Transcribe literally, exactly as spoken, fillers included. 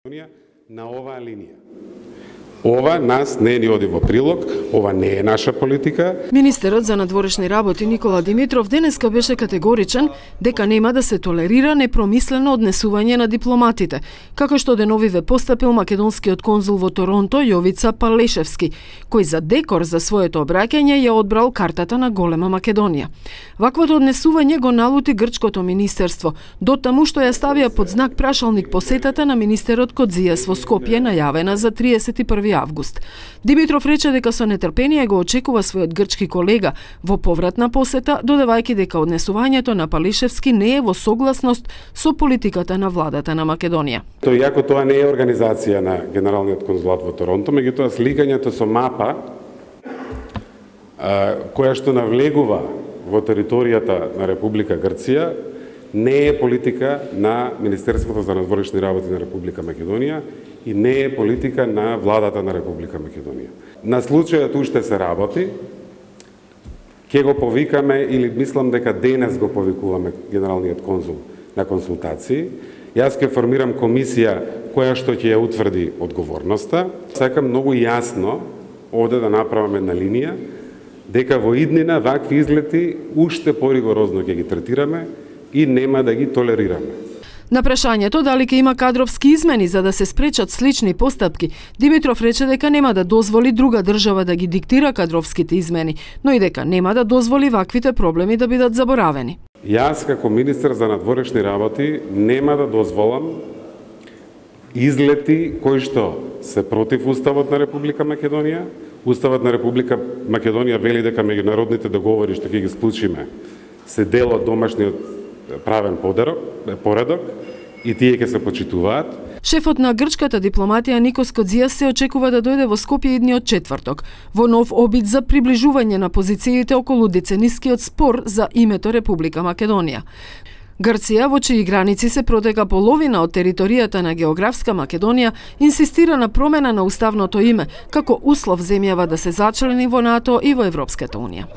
на оваа линија. Ова нас не ни оди во прилог, ова не е наша политика. Министерот за надворешни работи Никола Димитров денеска беше категоричен дека нема да се толерира непромислено однесување на дипломатите, како што деновиве постапил македонскиот конзул во Торонто Јовица Палешевски, кој за декор за своето обраќање ја одбрал картата на голема Македонија. Ваквото однесување го налути грчкото министерство, дотаму што ја ставија под знак прашалник посетата на министерот Кодзијас во Скопје најавена за триесет и први август. Димитров рече дека со нетрпение го очекува својот грчки колега во повратна посета, додавајќи дека однесувањето на Палешевски не е во согласност со политиката на владата на Македонија. Тоа иако тоа не е организација на Генералниот конзулат во Торонто, меѓутоа сликањето со мапа која што навлегува во територијата на Република Грција не е политика на Министерството за надворешни работи на Република Македонија и не е политика на владата на Република Македонија. На случајот уште се работи, ќе го повикаме или мислам дека денес го повикуваме генералниот конзул на консултации. Јас ќе формирам комисија која што ќе ја утврди одговорноста. Сакам многу јасно овде да направиме една линија дека во иднина вакви излети уште поригорозно ќе ги третираме и нема да ги толерираме. На прашањето дали ќе има кадровски измени за да се спречат слични постапки, Димитров рече дека нема да дозволи друга држава да ги диктира кадровските измени, но и дека нема да дозволи ваквите проблеми да бидат заборавени. Јас како министер за надворешни работи нема да дозволам излети кои што се против Уставот на Република Македонија. Уставот на Република Македонија вели дека меѓународните договори што ќе ги склучиме се дел од домашниот правен поредок и тие ќе се почитуваат. Шефот на грчката дипломатија Никос Кодзијас се очекува да дојде во Скопје идниот четврток, во нов обид за приближување на позициите околу деценискиот спор за името Република Македонија. Грција, во чии граници се протека половина од територијата на географска Македонија, инсистира на промена на уставното име, како услов земјава да се зачлени во НАТО и во Европската унија.